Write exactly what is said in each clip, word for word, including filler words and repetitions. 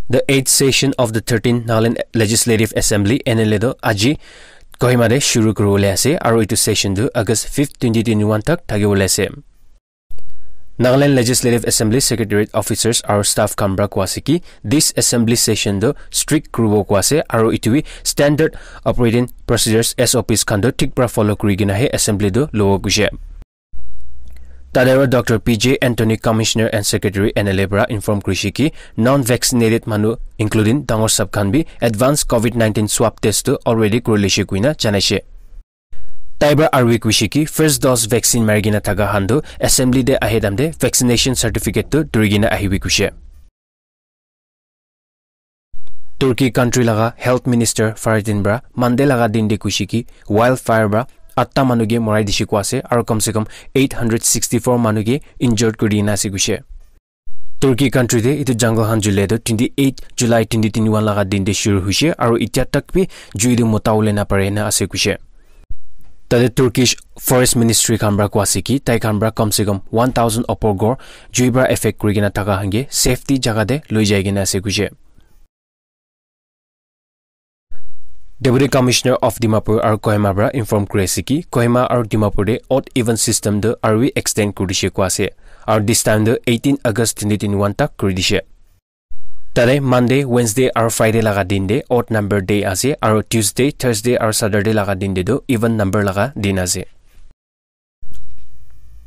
The eighth session of the thirteenth Nagaland Legislative Assembly, N L A, tu aji Kohima te shuru kuribole ase, aru etu session tu August fifth, twenty twenty-one tak thakibole ase. Nagaland Legislative Assembly Secretariat officers aru staff khan para koa ase ki, this assembly session tu strict kuribo koa ase, aru etu bi standard operating procedures, S O Ps khan tu thik para follow kuri kena he assembly tu lobo koise. Tate aru Doctor P J Anthony, Commissioner and Secretary N L A para inform kurise ki, non-vaccinated manu including dangor sab khan bi advance covid nineteen swab test tu already kuri lishe koina janaise. Tai para aru bi kuise ki, first dose vaccine mari kena thaka khan tu assembly te ahe time te vaccination certificate tu duri kena ahibi kuise. Turkey country laga health minister Fahrettin para Monday laga din te kuise ki, wildfire para atta manu ke morai dishe koa ase, aru kam se kam eight hundred sixty-four manu ke injured kuri dina ase kuise. Turkey country te etu jungle khan jule tu twenty-eight July twenty twenty-one laga din te shuru hoise, aru itya tak bi jui tu mota ulai na pare na ase kuise. Tate Turkish Forest Ministry khan para koa ase ki, tai khan para kam se kam one thousand opor ghor jui para affect kuri kena thaka khan ke safety jaga te loi jai kena ase kuise. Deputy Commissioner of Dimapur aru Kohima para inform kuri ase ki, Kohima aru Dimapur te odd even system tu aru bi extend kuri dishe koa ase, aru this time tu eighteen August twenty twenty-one tak kuri dishe. Tate Monday, Wednesday aru Friday laga din te odd number day ase, aru Tuesday, Thursday aru Saturday laga din te tu even number laga din ase.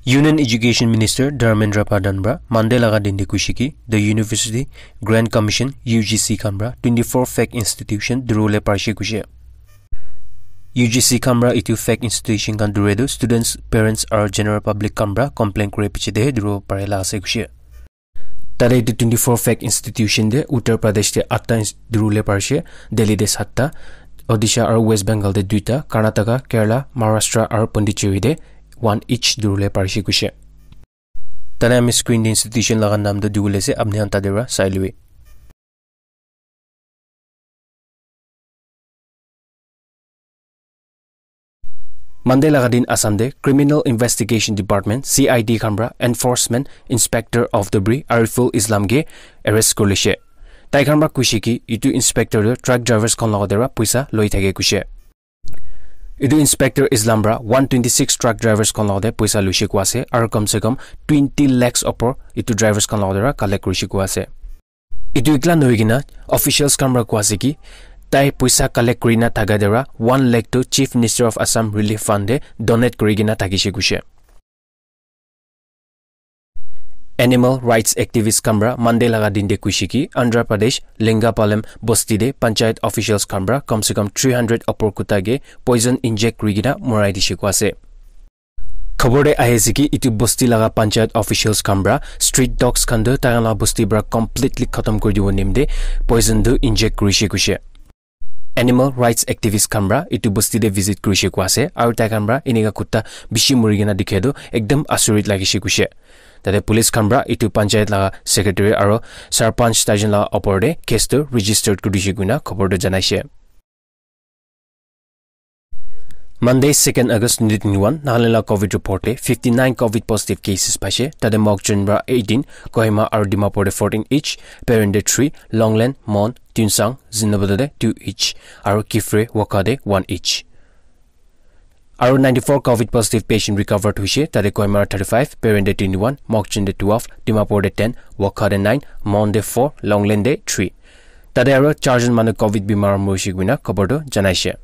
Union Education Minister Dharmendra Pradhan para Monday laga din te kuise ki, the University Grant Commission, U G C khan para twenty-four fake institution duribole parise kuise. U G C khan para etu fake institution khan dure tu students, parents aru general public khan para complain kuri piche te he duribo pare la ase kuise. Tate etu twenty-four fake institution te Uttar Pradesh te atta ins-, duribole parise, Delhi te satta, Odisha aru West Bengal te duita, Karnataka, Kerala, Maharashtra aru Pondicherry te one each duribole parise kuise. Tate ami screen te institution laga naam tu dibole ase, apni khan tate para sai lobi. Monday laga din Assam te Criminal Investigation Department, C I D khan para Enforcement Inspector of the Bri Ariful Islam ke arrest kuri lishe. Tai khan para kuise ki, etu inspector tu truck drivers khan logot te para poisa loi thake kuise. Etu inspector Islam para one twenty-six truck drivers khan logot te poisa luise koa ase, aru kam se kam twenty lakhs opor etu drivers khan logot te para collect kurise koa ase. Etu ekla nohoi kena officials khan para koa ase ki, tai poisa collect kuri na thaka te para one lakh tu Chief Minister of Assam Relief Fund te donate kuri kena thakise kuise. Animal rights activist khan para Monday laga din te kuise ki, Andhra Pradesh Lingapalem bosti te panchayat officials khan para kam se kam three hundred opor kuta ke poison inject kuri kena morai dishe koa ase. Khobor te ahi ase ki, etu bosti laga panchayat officials khan para street dogs khan tu tai khan laga bosti para completely khatam kuri dibo nimite poison tu inject kurise kuise. Animal rights activist khan para etu bosti te visit kurise koa ase, aru tai khan para enika kutta bishi muri kena dikhe tu ekdam asurit lagise kuise. Tate police khan para etu panchayat laga secretary aru sarpanch tai jon laga opor te case tu registered kuri dise koina khobor tu janaise. Monday, second August twenty twenty-one, Nagaland laga covid report te fifty-nine covid positive cases paise. Tate Mokokchung para eighteen, Kohima aru Dimapur te fourteen each, Peren te three, Longleng, Mon, Tuensang, Zunheboto te two each, aru Kiphire, Wokha te one each. Aru ninety-four covid positive patient recovered hoise, tate Kohima te thirty-five, Peren te twenty-one, Mokokchung te twelve, Dimapur te ten, Wokha te nine, Mon te four, Longleng te three. Tate aru charjon manu covid bimar morise koina khobor tu janaise.